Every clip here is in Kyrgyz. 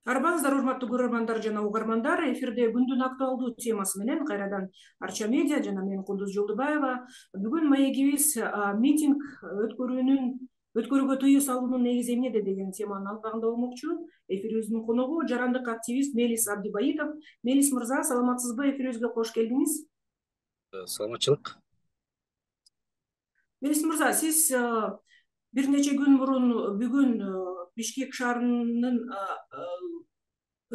Арбаңыздар, урматтуу көрөрмандар жана угармандар. Эфирде күндүн актуалдуу темасы менен кайрадан Арча медиа жана мен Кулдуз Жолдубаева. Бүгүн маегибиз митинг өткөрүүгө тыюу салуунун негизи эмнеде деген теманын алкагында болмокчу. Эфирибиздин коногу жарандык активист Мелис Абдибаитов. Мелис мырза, саламатсызбы? Эфирибизге кош келдиңиз. Саламатчылык. Мелис мырза, сиз бир нече күн мурун бүгүн Бишкек шаарынын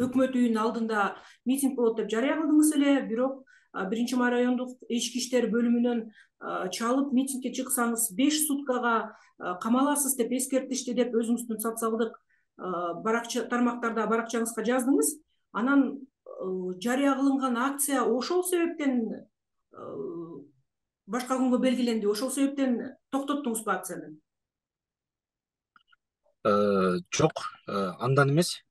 өкмөт үйүнүн алдында митинг болот деп жарыя кылдыңыз эле, бирок 1 райондук ички иштер бөлүмүнөн чалып митингге чыксаңыз 5 суткага камаласыз деп эскертишти деп өзүңүздүн социалдык тармактарда баракчаңызга жаздыңыз. Анан жарыя кылынган акция ошол себептен башка күнгө белгиленди. Ошол себептен токтоттуңузбу акцияны? Жок, андан эмес.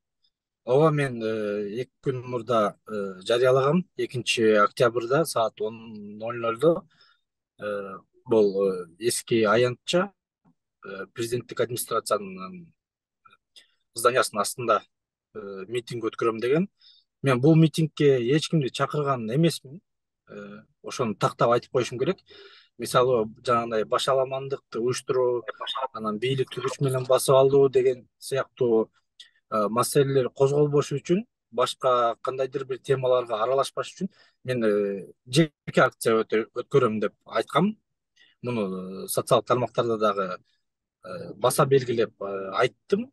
Ооба, мен 2 күн мурда жарыялагам. 2-октябрда саат 10:00 бул эски аянтча президенттик администрациянын зданиясынын астында митинг өткөрөм деген. Мен бул митингге эч кимди чакырган эмесмин. Ошону тактап айтып коюшум керек. Мисалы, жанагындай башаламандыкты уюштуруу, анан бийликти күч менен басып алуу деген сыяктуу маселелер козголбошу үчүн, башка кандайдыр бир темаларга аралашпаш үчүн мен жеке акция өткөрөм деп айткам. Муну социалдык тармактарда дагы баса белгилеп айттым,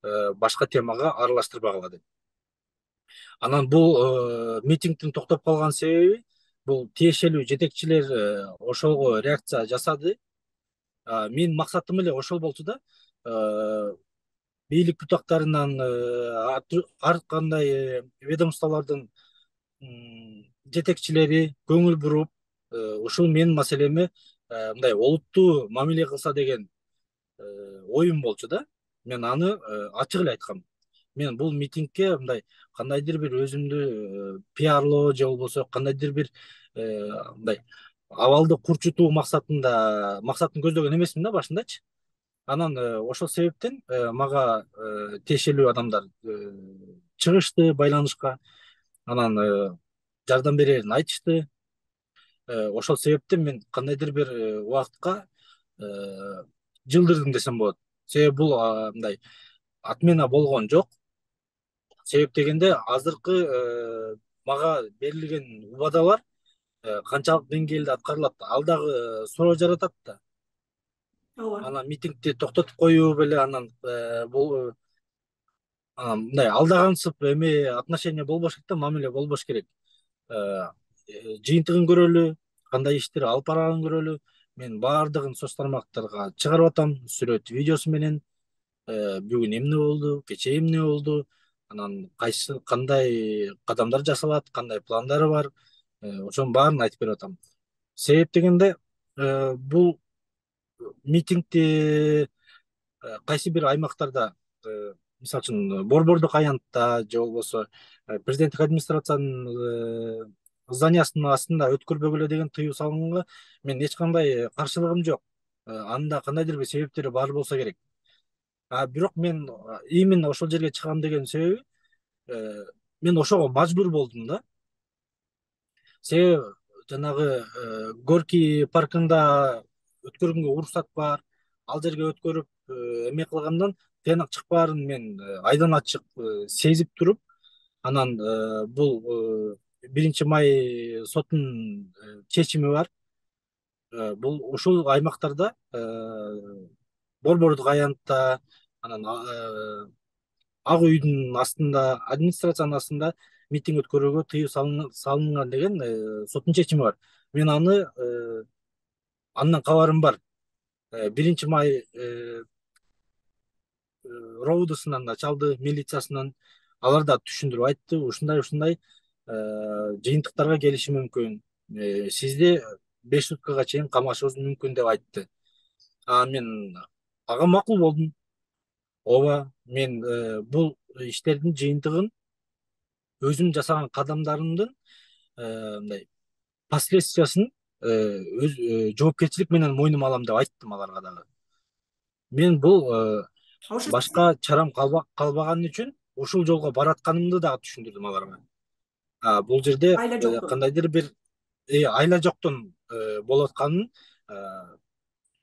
башка темага аралаштырбагыла деп. Анан бул митингдин токтоп калган себеби бул тиешелүү жетекчилер ошого реакция жасады. Менин максатым эле ошол болчу да. Бийлик бутактарынан ар кандай ведомстволордун жетекчилери көңүл буруп, ушул менин маселеме мындай олуттуу мамиле кылса деген оюм болчу да. Мен аны ачык эле айткам. Мен бул митингге мындай кандайдыр бир өзүмдү пиарлоо же болбосо кандайдыр бир мындай абалды курчутуу максатын көздөгөн эмесмин да башындачы. Анан ошол себептен мага тиешелүү адамдар чыгышты байланышка. Анан жардам берерин айтышты. Ошол себептен мен кандайдыр бир убакытка жылдырдым десем болот. Себеби бул мындай отмена болгон жок. Себеп дегенде азыркы мага берилген убадалар канчалык деңгээлде аткарылат, ал дагы суроо жаратат да. Ооба. Анан митингди токтотуп коюу беле, анан бул мындай алдагансып эме отношение болбош керек да, мамиле болбош керек. Жыйынтыгын көрөлү, кандай иштер алып барганын көрөлү. Мен баардыгын соц тармактарга чыгарып атам, сүрөт, видеосу менен. Бүгүн эмне болду, кечээ эмне болду, анан кандай кадамдар жасалат, кандай пландары бар, ошонун баарын айтып берип атам. Себеп дегенде бул митингди кайсы бир аймактарда, мисалы үчүн Борбордук аянтта же болбосо президенттик администрациянын зданиясынын астында өткөрбөгүлө деген тыюу салынганга мен эч кандай каршылыгым жок. Анда кандайдыр бир себептери бар болсо керек. Бирок мен именно ошол жерге чыгам деген себеби мен ошого мажбур болдум да. Себеби жанагы Горький паркында өткөргөнгө уруксат бар. Ал жерге өткөрүп эме кылгандан тыянак чыкпаарын мен айдан ачык сезип туруп, анан бул 1 май сотунун чечими бар. Бул ушул аймактарда Борбордук аянтта, анан Ак үйдүн астында, администрациянын астында митинг өткөрүүгө тыюу салынган деген соттун чечими бар. Мен андан кабарым бар. 1 май роудусунан да чалды, милициясынан. Алар да түшүндүрүп айтты, ушундай жыйынтыктарга келиши мүмкүн. Сизди 5 суткага чейин камашыбыз мүмкүн деп айтты. Мен ага макул болдум. Ооба, мен бул иштердин жыйынтыгын өзүм жасаган кадамдарымдын мындай последствиясын жоопкерчилик менен мойнума алам деп айттым аларга дагы. Мен бул башка чарам калбаган үчүн ушул жолго баратканымды дагы түшүндүрдүм аларга. Бул жерде айла жоктун. кандайдыр бир айла жоктун болуп атканын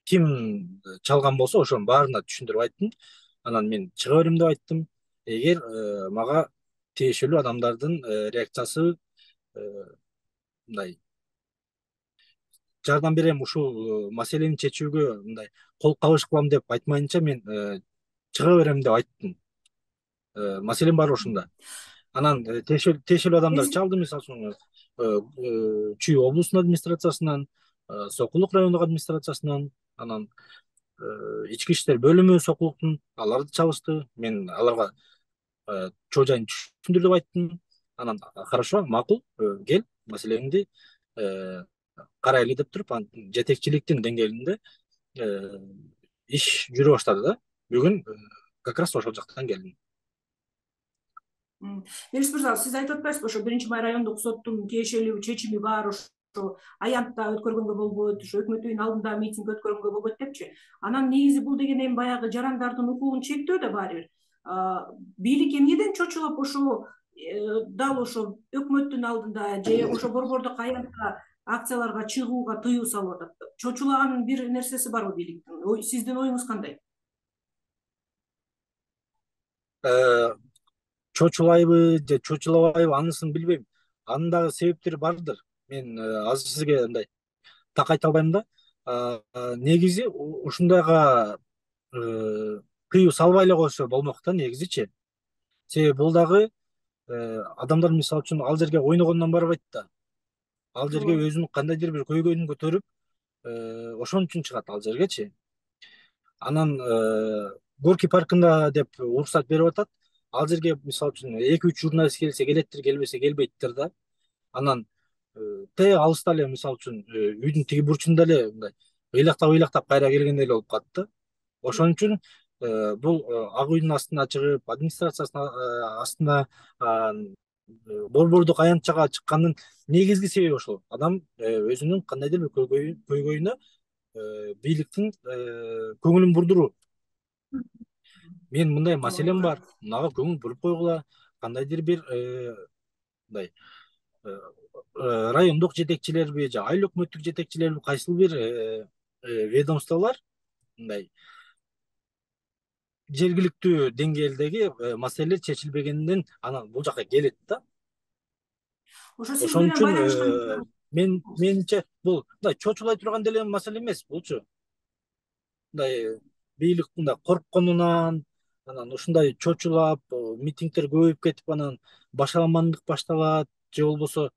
ким чалган болсо ошонун баарына түшүндүрүп айттым. Анан мен чыга берем деп айттым. Эгер мага тиешелүү адамдардын реакциясы мындай жардам берем ушул маселени чечүүгө мындай кол кабыш кылам деп айтмайынча мен чыга берем деп айттым. Маселенин баары ушунда. Анан тиешелүү адамдар чалды, мисалы үчүн Чүй облустун администрациясынан, Сокулук райондук администрациясынан, анан ички иштер бөлүмү Сокулуктун аларды чалышты. Мен аларга чоо жайын түшүндүр деп айттым. Анан хорошо, макул, кел маселеңди карайлы деп туруп, жетекчиликтин деңгээлинде иш жүрө баштады да. Бүгүн как раз ошол жактан келдим. Мелис мырза, сиз айтып атпайсызбы, ошо 1-Май райондук соттун тиешелүү чечими бар, ошо аянтта өткөргөнгө болбойт, ошо өкмөт үйүнүн алдында митинг өткөргөнгө болбойт депчи. Анан негизи бул деген эми баягы жарандардын укугун чектөө да баары бир. Бийлик эмнеден чочулап ошо дал ошо өкмөттүн алдында же ошо борбордук аянтта акцияларга чыгууга тыюу салып атат? Чочулаган бир нерсеси барбы бийликтин? Сиздин оюңуз кандай? Чочулайбы же чочулабайбы анысын билбейм. Анын дагы себептери бардыр. Мен азыр сизге мындай так айта албайм да. Негизи ушундайга тыюу салбай эле койсо болмок да негизичи. Себеби бул дагы адамдар мисалы үчүн ал жерге ойногондон барбайт да. Ал жерге өзүнүн кандайдыр бир көйгөйүн көтөрүп ошон үчүн чыгат ал жергечи. Анан Горький паркында деп уруксат берип атат. Ал жерге мисалы үчүн 2-3 журналист келсе келеттир, келбесе келбейттир да. Анан алыста эле мисалы үчүн үйдүн тиги бурчунда эле мындай ыйлактап кайра келгендей эле болуп калат да. Ошон үчүн бул Ак үйдүн астына чыгып, администрациясынын астына борбордук аянтчага чыккандын негизги себеби ошол. Адам өзүнүн кандайдыр бир көйгөйүнө бийликтин көңүлүн бурдуруу. Мен мындай маселем бар, мунага көңүл буруп койгула, кандайдыр бир мындай райондук жетекчилерби же айыл өкмөттүк жетекчилерби кайсыл бир ведомстволор мындай жергиликтүү деңгээлдеги маселелер чечилбегенден анан бул жака келет да. Ошон үчүн менимче бул мындай чочулай турган деле маселе эмес булчу. Мындай бийлик мындай коркконунан анан ушундай чочулап митингдер көбөйүп кетип анан башаламандык башталат же болбосо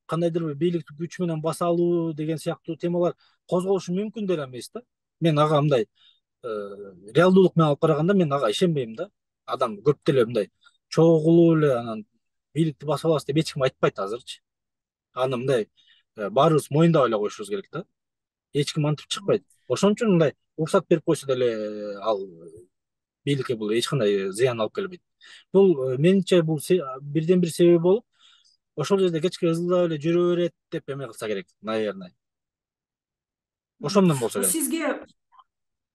кандайдыр бир бийликти күч менен баса алуу деген сыяктуу темалар козголушу мүмкүн деле эмес да. Мен ага мындай реалдуулук менен алып караганда мен ага ишенбейм да. Адам көп деле мындай чогулуп эле анан бийликти басып алабыз деп эч ким айтпайт азырчы. Аны мындай баарыбыз моюндап эле коюшубуз керек да. Эч ким антип чыкпайт. Ошон үчүн мындай уруксат берип койсо деле ал бийликке бул эч кандай зыян алып келбейт. Бул менимче бул бирден бир себеби болуп, ошол жерде кечке ызылдап эле жүрө берет деп эме кылса керек, наверное. Ошондон болсо керек. Сизге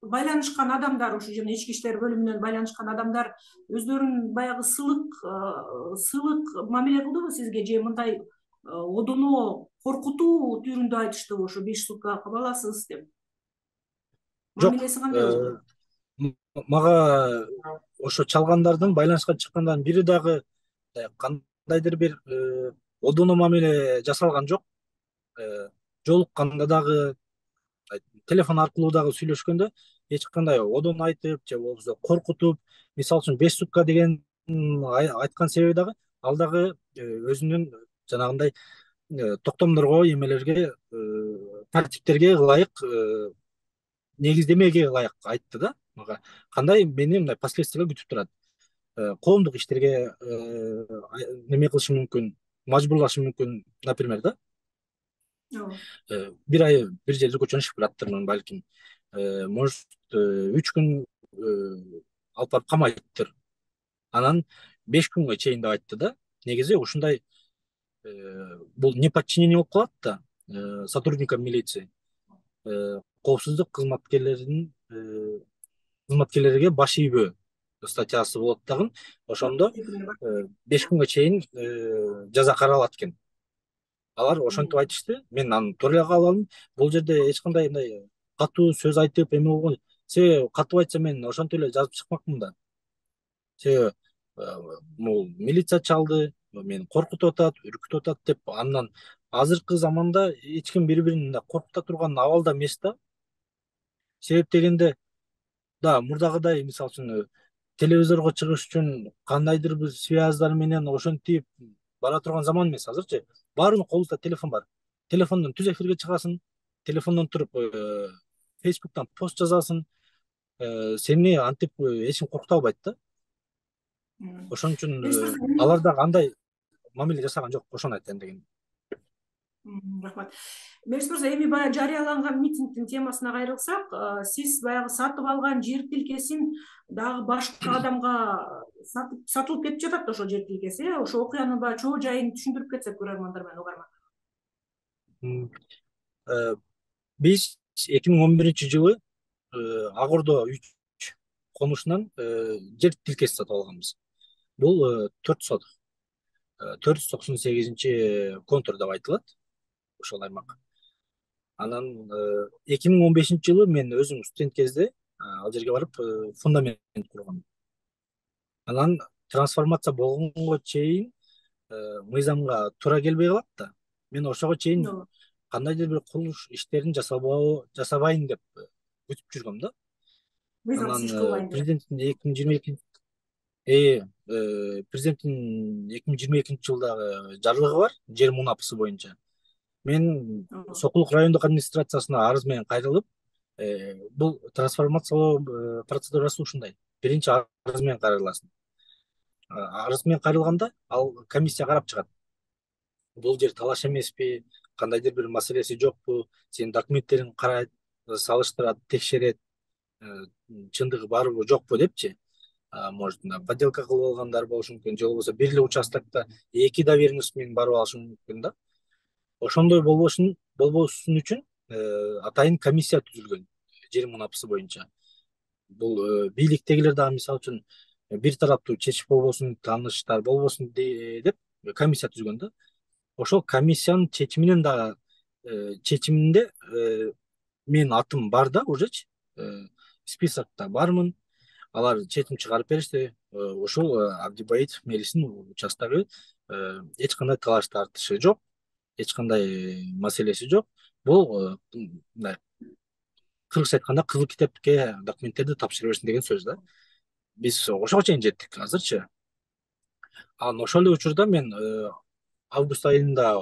байланышкан адамдар, ошо жана ички иштер бөлүмүнөн байланышкан адамдар өздөрүн баягы сылык мамиле кылдыбы сизге же мындай одоно коркутуу түрүндө айтыштыбы, ошо 5 сутка кабаласыз деп? Мамилеси кандай болду? Мага ошо чалгандардын, байланышка чыккандардын бири дагы кандайдыр бир одоно мамиле жасалган жок. Жолукканда дагы, телефон аркылуу дагы сүйлөшкөндө эч кандай одоно айтып же болбосо коркутуп, мисалы үчүн 5 сутка деген айткан себеби дагы ал дагы өзүнүн жанагындай токтомдорго, эмелерге, тартиптерге ылайык, негиздемеге ылайык айтты да мага. Кандай мени мындай последствия күтүп турат. Коомдук иштерге неме кылышы мүмкүн, мажбурлашы мүмкүн, например да. Бир ай бир жерде көчөнү чыгып бараттырмын балким. Может 3 күн алып барып камайттыр. Анан 5 күнгө чейин деп айтты да. Негизи ушундай бул неподчинение болуп калат да сотрудникам милиции. Коопсуздук кызматкерлерге баш ийбөө статьясы болот дагы. Ошондо 5 күнгө чейин жаза каралат экен. Алар ошентип айтышты. Мен аны туура эле кабыл алдым. Бул жерде эч кандай мындай катуу сөз айтып эме болгон. Себеби катуу айтса мен ошентип эле жазып чыкмакмын да. Себеби бул милиция чалды, мени коркутуп атат, үркүтүп атат деп. Андан азыркы заманда эч ким бири-бирин мындай коркута турган абалда эмес да. Себеп дегенде, да, мурдагыдай мисалы үчүн телевизорго чыгыш үчүн кандайдыр бир связьдар менен ошентип бара турган заман эмес азырчы. Баарынын колунда телефон бар. Телефондон түз эфирге чыгасың, телефондон туруп Facebooktан пост жазасың. Сени антип эч ким коркута албайт да. Ошон үчүн алар дагы андай мамиле жасаган жок. Ошону айтайын дегеним. Рахмат. Мелис мырза, эми баягы жарыяланган митингдин темасына кайрылсак, сиз баягы сатып алган жер тилкесин дагы башка адамга сатылып кетип жатат ошол жер тилкеси. Ошо окуянын баягы чоо жайын түшүндүрүп кетсек көрөрмандар менен угармандар. Биз 2011-жылы Ак Ордо 3 конушунан жер тилкеси сатып алганбыз. Бул 498 контур деп айтылат ошол аймак. Анан 2015-жылы мен өзүм студент кезде ал жерге барып фундамент кургам. Анан трансформация болгонго чейин мыйзамга туура келбей калат да. Мен ошого чейин кандайдыр бир курулуш иштерин жасабайын деп күтүп жүргөм да. Анан президенттин 2022-жылдагы жарлыгы бар, жер мунапысы боюнча. Мен Сокулук райондук администрациясына арыз менен кайрылып, бул трансформациялоо процедурасы ушундай. Биринчи арыз менен кайрыласың. Арыз менен кайрылганда ал комиссия карап чыгат. Бул жер талаш эмеспи, кандайдыр бир маселеси жокпу, сенин документтериң карайт, салыштырат, текшерет, чындыгы барбы жокпу депчи. Может, подделка кылып алгандар болушу мүмкүн, же болбосо бир эле участокто 2 доверенность менен барып алышы мүмкүн да. Ошондой болбошун үчүн атайын комиссия түзүлгөн жер мунапысы боюнча. Бул бийликтегилер дагы мисалы үчүн бир тараптуу чечип болбосун, тааныштар болбосун деп комиссия түзгөн да. Ошол комиссиянын чечиминде менин атым бар да, ужечи списокто бармын. Алар чечим чыгарып беришти. Ошол Абдибаитов Мелистин участогу эч кандай талаш тартышы жок, эч кандай маселеси жок. Бул мындай кыргызча айтканда кызыл китепке документтерди тапшырып берсин деген сөз да. Биз ошого чейин жеттик азырчы. Анан ошол эле учурда мен август айында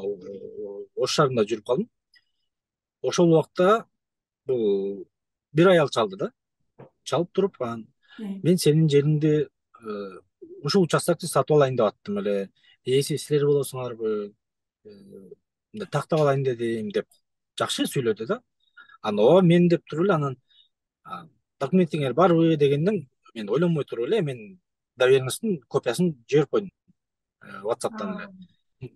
Ош шаарында жүрүп калдым. Ошол убакта бул бир аял чалды да. Чалып туруп, мен сенин жериңди ушул участокты сатып алайын деп аттым эле. Силер болосуңарбы? Тактап алайын дедим деп жакшы сүйлөдү да. Анан ооба мен деп туруп эле анан документиңер барбы дегенден мен ойлонбой туруп эле мен доверенностьтун копиясын жиберип койдум WhatsApp'тан эле.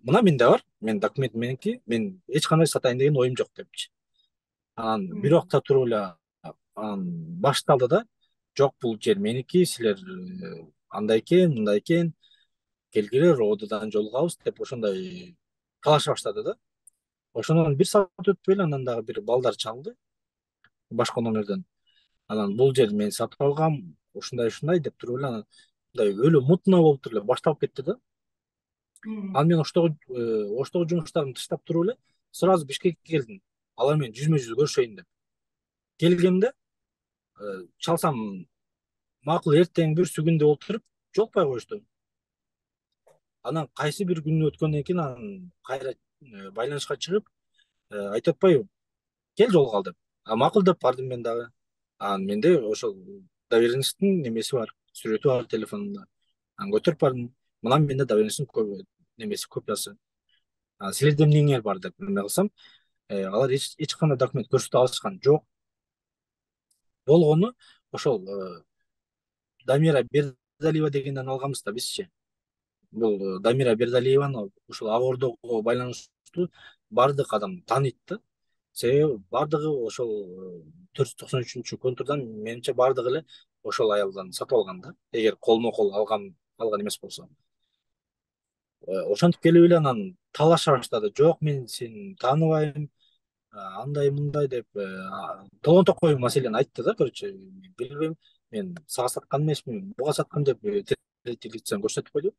Мына менде бар, мен документ меники, мен эч кандай сатайын деген оюм жок депчи. Анан бир убакта туруп эле башталды да. Жок, бул жер меники, силер андай экен, мындай экен, келгилер ОДдан жолугабыз деп ошондой талаша баштады да. Ошондон бир саат өтпөй эле анан дагы бир балдар чалды башка номерден. Анан бул жер мен сатып алгам, ушундай деп туруп эле анан мындай өлө мутно болуп туруп эле башталып кетти да. Анан мен Оштогу жумуштарымды таштап туруп эле сразу Бишкекке келдим. Алар менен жүзмө-жүз көрүшөйүн деп. Келгенде чалсам макул эртең бүрсү күндө отуруп жолукпай коюшту. Анан кайсы бир күн өткөндөн кийин анан кайра байланышка чыгып айтып атпайбы, кел жолугалы деп. Макул деп бардым мен дагы. Анан менде ошол доверенностьтун немеси бар, сүрөтү бар телефонумда. Анан көтөрүп бардым. Мына менде доверенностьтун немеси копиясы. Силерде эмнеңер бар деп эме кылсам, алар эч кандай документ көрсөтө алышкан жок. Болгону ошол Дамира Бердалиева дегенден алганбыз да бизчи. Бул Дамира Бердалиеваны ушул Ак Ордого байланыштуу бардык адам тааныйт да. Себеби бардыгы ошол 493 контурдан менимче бардыгы эле ошол аялдан сатып алган да, эгер колмо кол алган эмес болсо. Ошентип келип эле анан талаша баштады. Жок, мен сени тааныбайм, андай мындай деп толон токой маселени айтты да. Короче, билбейм, мен сага саткан эмесмин, буга саткан деп третий лицеден көрсөтүп койду.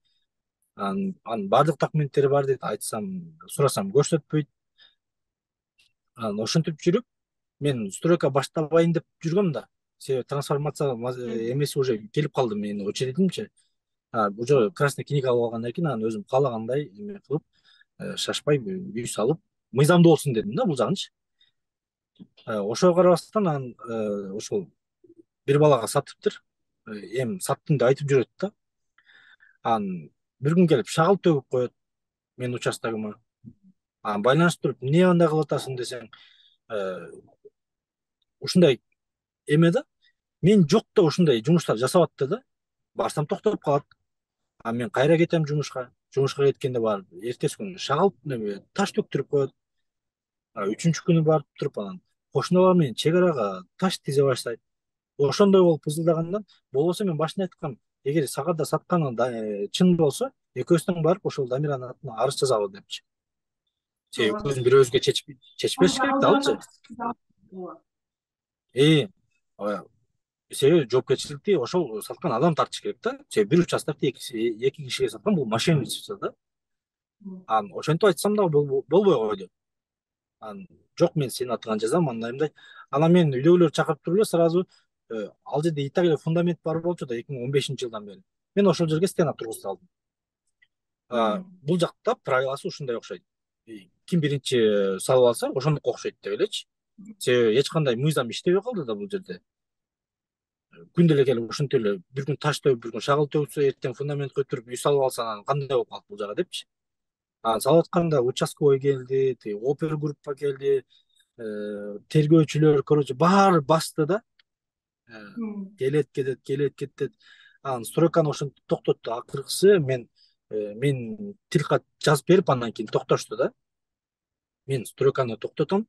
Анын баардык документтери бар дейт, айтсам, сурасам көрсөтпөйт. Анан ошентип жүрүп, мен стройка баштабайын деп жүргөм да. Себеби трансформация эмеси уже келип калды менин очередимчи. Уже красный книга алып алгандан кийин анан өзүм каалагандай эме кылып, шашпай үй салып, мыйзамдуу болсун дедим да бул жагынчы. Ошого карабастан анан ошол бир балага сатыптыр. Эми саттым деп айтып жүрөт да. Анан бир күн келип шагыл төгүп коет менин участогума. Анан байланыштырып, эмне андай кылып атасың десең, ушундай эме да. Мен жокто ушундай жумуштар жасап атты да. Барсам токтоп калат. Мен кайра кетем жумушка. Жумушка кеткенде барып, эртеси күнү шагал таш төктүрүп коет. Үчүнчү күнү барып туруп анан кошуналар менен чек арага таш тизе баштайт. Ошондой болуп ызылдагандан, болбосо мен башында айткам, эгер сага да сатканың чын болсо, экөөбүз барып ошол Дамиранын атына арыз жазабыз депчи. Себеби экөөбүздүн бирөөбүзгө чечпеш керек да алчы. Себеби жоопкерчиликти ошол саткан адам тартыш керек да. Себеби бир участокти эки кишиге саткан, бул мошенничество да. Анан ошентип айтсам да болбой койду. Анан жок, мен сенин атыңан жазам, андай мындай. Анан мен үйдөгүлөрдү чакырып туруп эле сразу ал жерде и так эле фундамент бар болчу да 2015 жылдан бери. Мен ошол жерге стена тургузуп алдым. Бул жакта правиласы ушундай окшойт. Ким биринчи салып алса, ошондук окшойт деп элечи. Себеби эч кандай мыйзам иштебей калды да бул жерде. Күндө эле келип ушинтип эле бир күн таш төгүп, бир күн шагыл төгүпсө, эртең фундамент көтөрүп үй салып алса, анан кандай болуп калат бул жага депчи. Анан салып атканда участковый келди, опер группа келди, тергөөчүлөр, короче, баары басты да. Келет кетет. Анан стройканы ошентип токтотту. Акыркысы мен тил кат жазып берип, андан кийин токтошту да. Мен стройканы токтотом,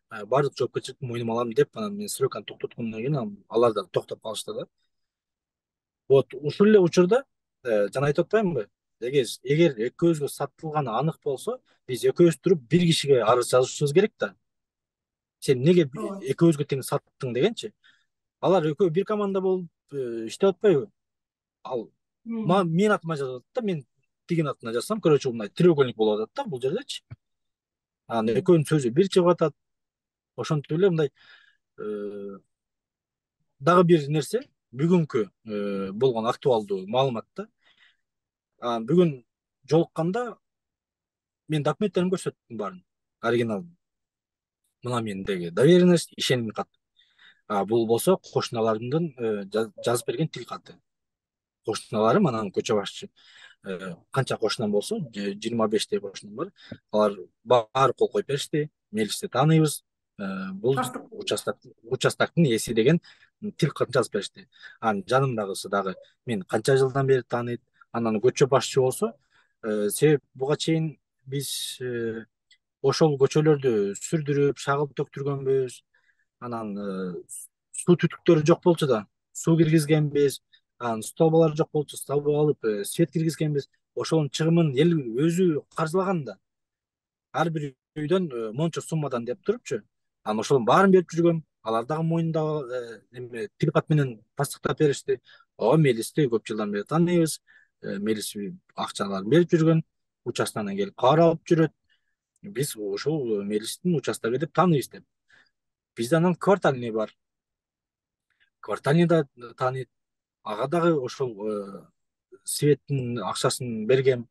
баардык жоопкерчиликти мойнума алам деп, анан мен стройканы токтоткондон кийин алар да токтоп калышты да. Вот ушул эле учурда жана айтып атпаймынбы? Эгер экөөбүзгө сатылганы анык болсо, биз экөөбүз туруп бир кишиге арыз жазышыбыз керек да. Сен эмнеге экөөбүзгө тең саттың дегенчи. Алар экөө бир команда болуп иштеп атпайбы? Ал менин атыма жазып атат да, мен тигин атына жазсам, короче, мындай треугольник болуп атат да бул жердечи. Анан экөөнүн сөзү бир чыгып атат. Ошентип эле мындай дагы бир нерсе, бүгүнкү болгон актуалдуу маалымат да. Бүгүн жолукканда мен документтеримди көрсөттүм баарын, оригиналын. Мына мендеги доверенность, ишеним кат. Бул болсо кошуналарымдын жазып берген тил каты. Кошуналарым, анан көчө башчы. Канча кошунам болсо, 25 кошунам бар. Алар баары кол коюп беришти. Мелисти тааныйбыз. Бул участоктун ээси деген тил катын жазып беришти. Анан жанымдагысы дагы мен канча жылдан бери тааныйт. Анан көчө башчы болсо, себеп буга чейин биз ошол көчөлөрдү сүрдүрүп, шагыл төктүргөнбүз. Анан суу түтүктөрү жок болчу да, суу киргизгенбиз. Анан столбалар жок болчу, столба алып, свет киргизгенбиз. Ошонун чыгымын эл өзү каржылаган да. Ар бир үйдөн мончо суммадан деп турупчу. Анан ошонун баарын берип жүргөм. Алар дагы мойнунда эме тил кат менен тастыктап беришти. Мелисти көп жылдан бери тааныйбыз. Мелис акчаларын берип жүргөн, участогунан келип кабар алып жүрөт. Биз ушул Мелистин участогу деп тааныйбыз деп. Бизде анан квартальный бар. Квартальный да тааныйт. Ага дагы ошол светтин акчасын бергем.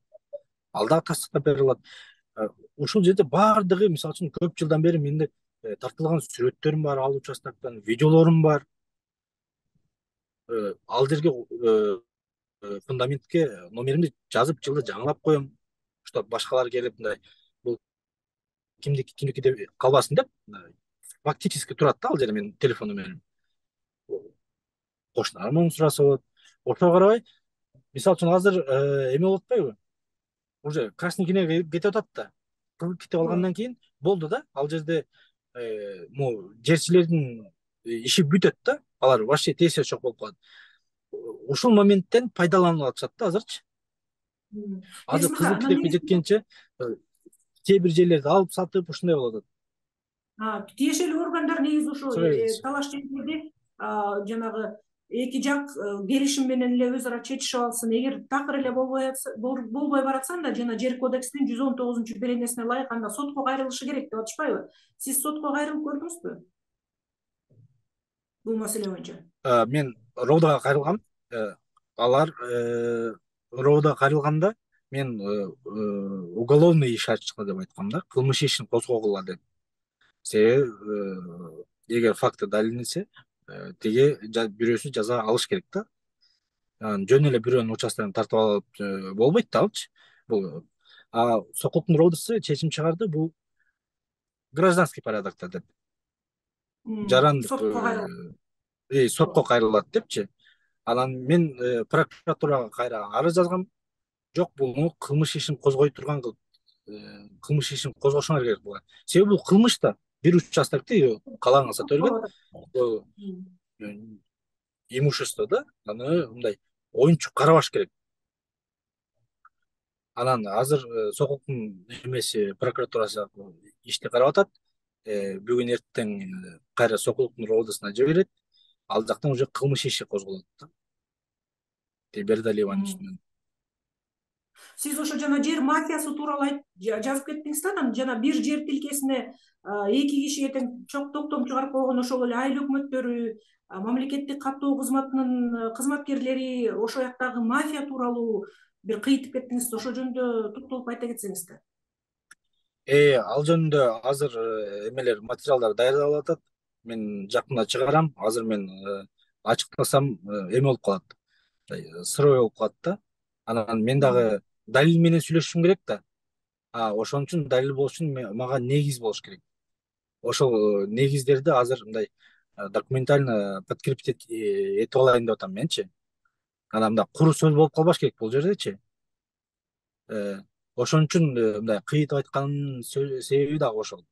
Ал дагы тастыктап бере алат. Ушул жерде баардыгы, мисалы үчүн, көп жылдан бери менде тартылган сүрөттөрүм бар, ал участоктон видеолорум бар. Ал жерге фундаментке номеримди жазып, жылды жаңылап коем. Что башкалар келип мындай бул кимдики деп калбасын деп, фактически турат да ал жерде менин телефон номерим. Кошуналарым муну сураса болот. Ошого карабай, мисалы үчүн азыр эме болуп атпайбы? Уже красный книга кетип атат да. Кетип алгандан кийин болду да. Ал жерде могу жерчилердин иши бүтөт да. алар вообще тез чок болуп калат. Ушул моменттен пайдаланып атышат да азырчы. Азыр Берсин кызыл ака, китепке жеткенче кээ бир жерлерди алып сатып ушундай болуп атат. тиешелүү органдар негизи ошо Сурай бересиз. талаш жерлерде жанагы эки жак келишим менен эле өз ара чечишип алсын. Эгер такыр эле болбой баратса, анда жана жер кодексинин 119 беренесине ылайык анда сотко кайрылышы керек деп атышпайбы? Сиз сотко кайрылып көрдүңүзбү бул маселе боюнча? Мен ровдага кайрылгам. Алар ровдага кайрылганда мен уголовный иш ачкыла деп айткам да, кылмыш ишин козгогула деп. Себеби эгер факты далилденсе, тиги бирөөсү жаза алыш керек да. Жөн эле бирөөнүн участкасын тартып алып болбойт да алчы. Бул сокулуктун ровдасы чечим чыгарды, бул гражданский порядокто деп. Жарандык Сотко кайрылат. сотко кайрылат депчи. Анан мен прокуратурага кайра арыз жазгам. Жок, буну кылмыш ишин козгой турган кылып, кылмыш ишин козгошуңар керек болгон. Себеби бул кылмыш да. Бир участокты каалаган төлгөн имущество да, аны мындай оюнчук карабаш керек. Анан азыр сокулуктун эмеси прокуратурасы ишти карап атат. Бүгүн эртең кайра сокулуктун ровдосуна жиберет. Ал жактан уже кылмыш иши козголот да. Бердалиеванын үстүнөн. Сиз ошо жана жер мафиясы тууралуу жазып кеттиңиз да, анан жана бир жер тилкесине эки кишиге тең токтом чыгарып койгон ошол эле айыл өкмөттөрү, мамлекеттик каттоо кызматынын кызматкерлери, ошол жактагы мафия тууралуу бир кыйтып кеттиңиз. Ошол жөнүндө токтолуп айта кетсеңиз да. Ал жөнүндө азыр эмелер, материалдар даярдалып атат. Мен жакында чыгарам. Азыр мен ачыктасам эме болуп калат. Сырой болуп калат да. Анан мен дагы далил менен сүйлөшүшүм керек да. Ошон үчүн далил болуш үчүн мага негиз болуш керек. Ошол негиздерди азыр мындай документально подкрепить этип алайын деп атам менчи. Анан мындай куру сөз болуп калбаш керек бул жердечи. Ошон үчүн мындай кыйтып айтканымдын себеби дагы ошол.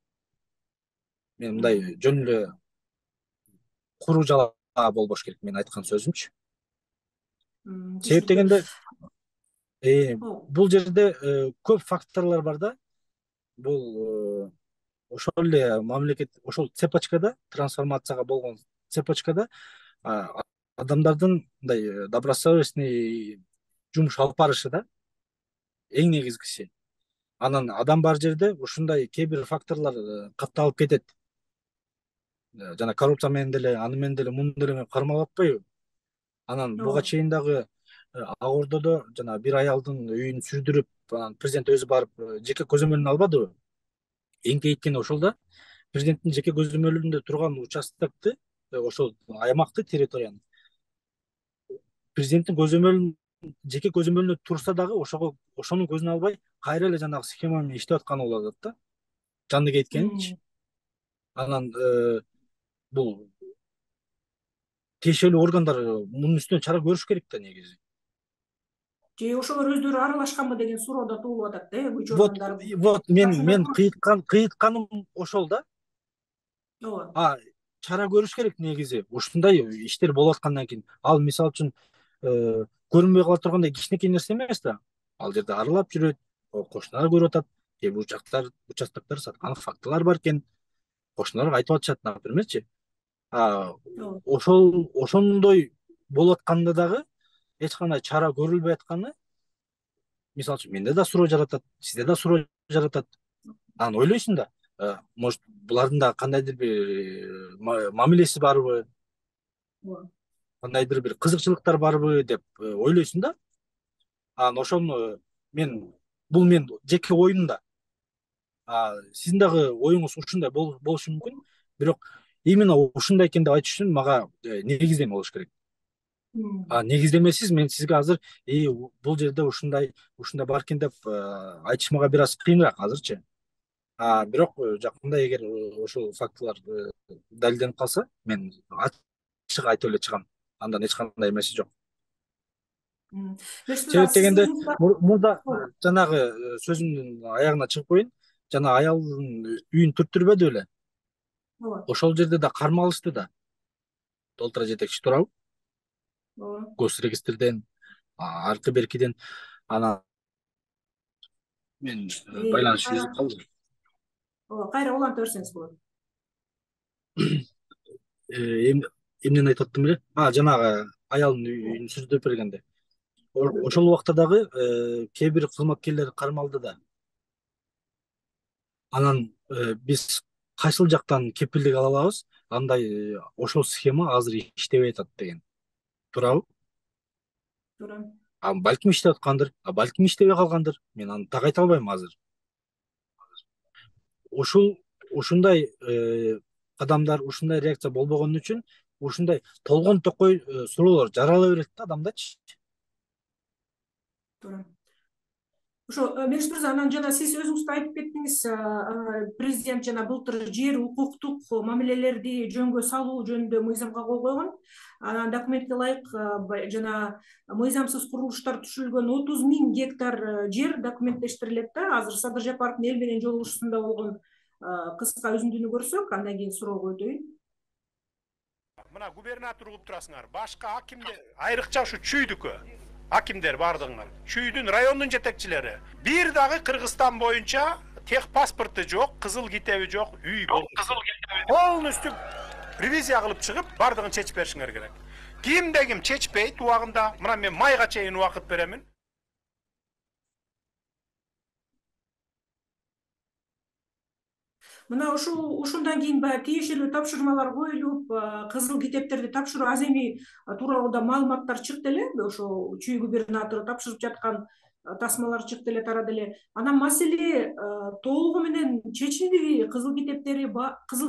Мен мындай жөн эле куру жала болбош керек менин айткан сөзүмчү. Себеп дегенде бул жерде көп факторлор бар да. Бул ошол эле мамлекет, ошол цепочкада, трансформацияга болгон цепочкада адамдардын мындай добросовестный жумуш алып барышы да эң негизгиси. Анан адам бар жерде ушундай кээ бир факторлор катталып кетет. Жана коррупция менен деле, аны менен деле, муну деле мен кармалап атпайбы? Анан буга чейин дагы Ак Ордодо жана бир аялдын үйүн сүрдүрүп, анан президент өзү барып жеке көзөмөлүн албадыбы? Эңкейткени ошол да. Президенттин жеке көзөмөлүндө турган участокты, ошол аймакты, территорияны президенттин жеке көзөмөлүнө турса дагы ошонун көзүн албай кайра эле жанагы схема менен иштеп атканы болуп атат да. Жанды кеткенчи. Анан бул тиешелүү органдар мунун үстүнөн чара көрүш керек да негизи. Же ошолор өздөрү аралашканбы деген суроо да туулуп атат да, көчө органдары. Вот мен кыйтканым ошол да. Ооба. Чара көрүш керек негизи. Ушундай иштер болуп аткандан кийин, ал мисалы үчүн көрүнбөй кала тургандай кичинекей нерсе эмес да. Ал жерде аралап жүрөт, кошуналар көрүп атат, кээ бир участоктор саткан фактылар бар экен. Кошуналар айтып атышат, напримерчи. Ошондой болуп атканда дагы эч кандай чара көрүлбөй атканы, мисалы үчүн менде да суроо жаратат, сизде да суроо жаратат. Анан ойлойсуң да, может булардын да кандайдыр бир мамилеси барбы, кандайдыр бир кызыкчылыктар барбы деп ойлойсуң да. Анан ошону бул мен жеке оюм да. Сиздин дагы оюңуз ушундай болушу мүмкүн, бирок именно ушундай экен деп айтыш үчүн мага негиздеме болуш керек. Негиздемесиз мен сизге азыр бул жерде ушундай бар экен деп айтыш мага бир аз кыйыныраак азырчы. Бирок жакында эгер ошол фактылар далилденип калса, мен ачык айтып эле чыгам. Андан эч кандай эмеси жок. Себеп дегенде мурда жанагы сөзүмдүн аягына чыгып коеюн. Жана аялдын үйүн түрттүрбөдү беле? Ошол жерде да кармалышты да. толтура жетекчи туурабы, ооба госрегистрден, аркы беркиден. Анан мен байланыш кайра үзүлүп калды. ооба кайра уланта берсеңиз болот. Эмнени айтып аттым эле? Жанагы аялдын үйүн сүрдөп бергенде. Ошол убакта дагы кээ бир кызматкерлер кармалды да. Анан биз кайсыл жактан кепилдик ала алабыз? Андай ошол схема азыр иштебей атат деген. Туурабы? Туура. Балким иштеп аткандыр, балким иштебей калгандыр. Мен аны так айта албайм азыр. Ушундай кадамдар, ушундай реакция болбогон үчүн ушундай толгон токой суроолор жарала берет да адамдачы. Туура. Ошо Мелис мырза, анан жана сиз өзүңүз да айтып кеттиңиз, президент жана былтыр жер укуктук мамилелерди жөнгө салуу жөнүндө мыйзамга кол койгон. Анан документке ылайык жана мыйзамсыз курулуштар түшүрүлгөн 30.000 гектар жер документтештирилет да. Азыр Садыр Жапаровдун эл менен жолугушуусунда болгон кыска үзүндүнү көрсөк, андан кийин суроого өтөйүн. Мына губернатор угуп турасыңар. Башка акимдер, айрыкча ушу чүйдүккө акимдер бардыгыңар. Чүйдүн райондун жетекчилери. Бир дагы Кыргызстан боюнча тех паспорту жок, кызыл китеби жок, үй болду. Полностью ревизия кылып чыгып, бардыгын чечип беришиңер керек. Кимде ким чечпейт убагында, мына мен майга чейин убакыт беремин. Мына ушундан кийин баягы тиешелүү тапшырмалар коюлуп, кызыл китептерди тапшыруу аземи тууралуу да маалыматтар чыкты эле. Ошо чүй губернатору тапшырып жаткан тасмалар чыкты эле, тарады эле. Анан маселе толугу менен чечилдиби? Кызыл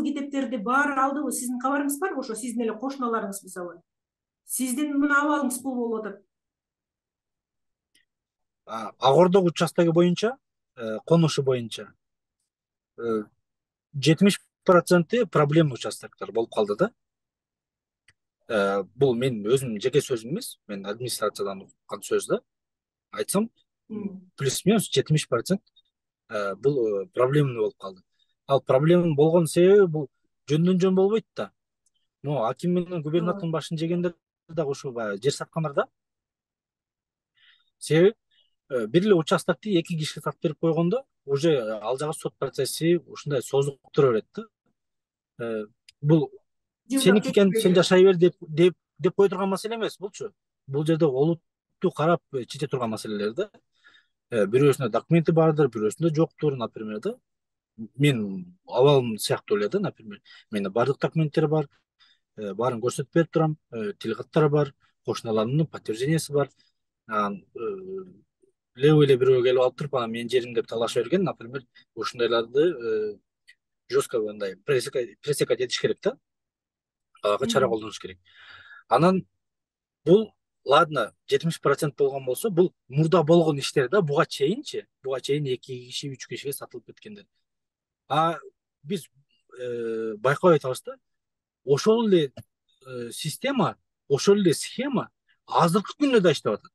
китептерди баары алдыбы? Сиздин кабарыңыз барбы? Ошо сиздин эле кошуналарыңыз мисалы. Сиздин мына абалыңыз бул болуп атат. Ак Ордо участогу боюнча, конушу боюнча 70% проблема участоктор болуп калды да. Бул мен өзүмдүн жеке сөзүм эмес, мен администрациядан уккан сөз да. Айтсам, плюс-минус 70% бул проблемный болуп калды. Ал проблеманын болгон себеби бул жөндөн жөн болбойт да. Могу аким менен губернатордун башын жегендер дагы ушул баягы жер саткандар да. Себеби бир эле участокти эки кишиге сатып берип койгондо уже ал жагы сот процесси ушундай созуктура берет да. Бул сеники экен, сен жашай бер деп кое турган маселе эмес булчу. Бул жерде олутту карап чече турган маселелер да. Бирөөсүндө документи бардыр, бирөөсүндө жоктур, например да. Мен абалым сыяктуу эле да, например. Менде бардык документтер бар, баарын көрсөтүп берип турам, тилкаттар бар, кошуналарымдын подтвержденияси бар. Левый эле бирөө келип алып туруп, анан менин жерим деп талаша берген, например, ушундайларды жестко мындай пресекать этиш керек да. Ага чара колдонуш керек. Анан бул ладно 70% болгон болсо, бул мурда болгон иштер да, буга чейин 2 киши, 3 кишиге сатылып кеткендер. Биз байкабай атабыз да. Ошол эле система, ошол эле схема азыркы күндө да иштеп атат.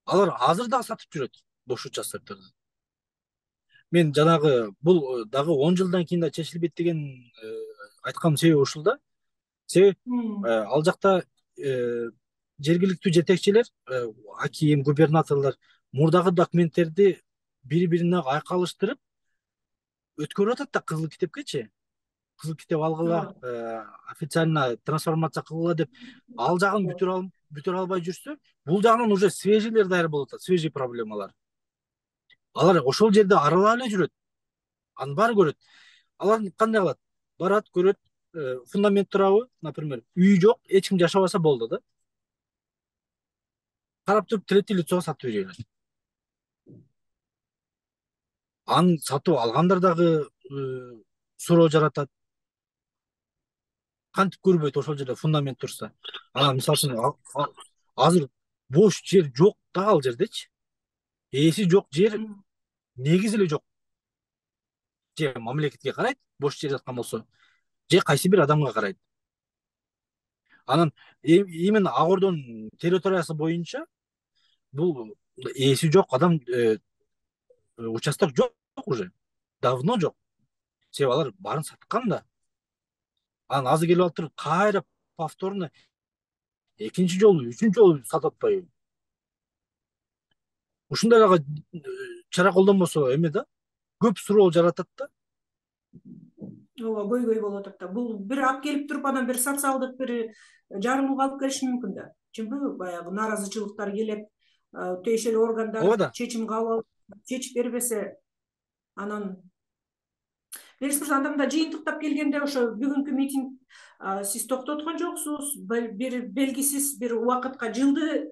Алар азыр дагы сатып жүрөт бош участокторду. Мен жанагы бул дагы 10 жылдан кийин да чечилбейт деген айткан себеби ушул да. Себеби ал жакта жергиликтүү жетекчилер, аким, губернаторлор мурдагы документтерди бири-бирине айкалыштырып өткөрүп атат да кызыл китепкечи. Кызыл китеп алгыла, официально трансформация кылгыла деп ал жагын бүтүрө албай жүрсө, бул жагынан уже свежийлер даяр болуп атат, свежий проблемалар. Алар ошол жерде аралап эле жүрөт. Анын баары көрөт. Алар кандай кылат? Барат, көрөт, фундамент турабы, например, үй жок, эч ким жашабаса болду да. Карап туруп третий лицого сатып берет. Аны сатып алгандар дагы суроо жаратат. Кантип көрбөйт ошол жерде фундамент турса. Анан мисалы үчүн азыр бош жер жок да ал жердечи. Ээси жок жер негизи эле жок. Же мамлекетке карайт, бош жер жаткан болсо, же кайсы бир адамга карайт. Анан именно Ак Ордонун территориясы боюнча бул ээси жок адам участок жок уже. Давно жок. Себеби алар баарын саткан да. Анан азыр келип алып туруп кайра повторно экинчи жолу, үчүнчү жолу сатып атпайбы? Ушундай эле чара колдонбосо эме да, көп суроо жаратат да. ооба, көйгөй болуп атат да. Бул бир алып келип туруп, анан бир социалдык бир жарылууга алып келиши мүмкүн да. Чынбы? Баягы нааразычылыктар келип, тиешелүү органдар Ооба да. чечим кабыл алып, чечип бербесе, анан Мелис мырза, анда мында жыйынтыктап келгенде, ошо бүгүнкү митинг сиз токтоткон жоксуз, бир белгисиз бир убакытка жылды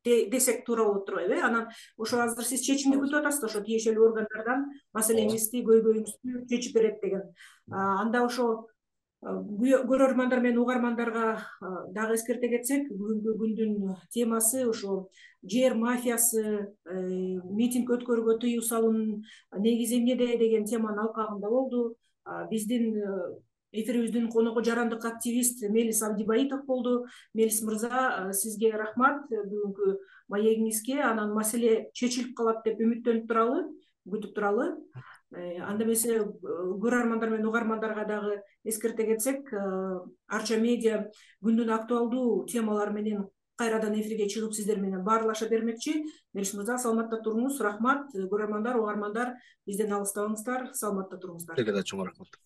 десек туура болот турбайбы? Анан ошо азыр сиз чечимди күтүп атасыз да, ошо тиешелүү органдардан маселеңизди, көйгөйүңүздү чечип берет деген. Анда ошо көрөрмандар менен угармандарга дагы эскерте кетсек, бүгүнкү күндүн темасы ошо жер мафиясы, митинг өткөрүүгө тыюу салуунун негизи эмнеде деген теманын алкагында болду. Биздин эфирибиздин коногу жарандык активист Мелис Абдибаитов болду. Мелис мырза, сизге рахмат бүгүнкү маегиңизге. Анан маселе чечилип калат деп үмүттөнүп туралы, күтүп туралы. Анда эмесе көрөрмандар менен угармандарга дагы эскерте кетсек, Арча медиа күндүн актуалдуу темалары менен кайрадан эфирге чыгып сиздер менен баарлаша бермекчи. Мелис мырза, саламатта туруңуз. Рахмат. Көрөрмандар, угармандар, бизден алыстабаңыздар, саламатта туруңуздар. Сизге да чоң рахмат.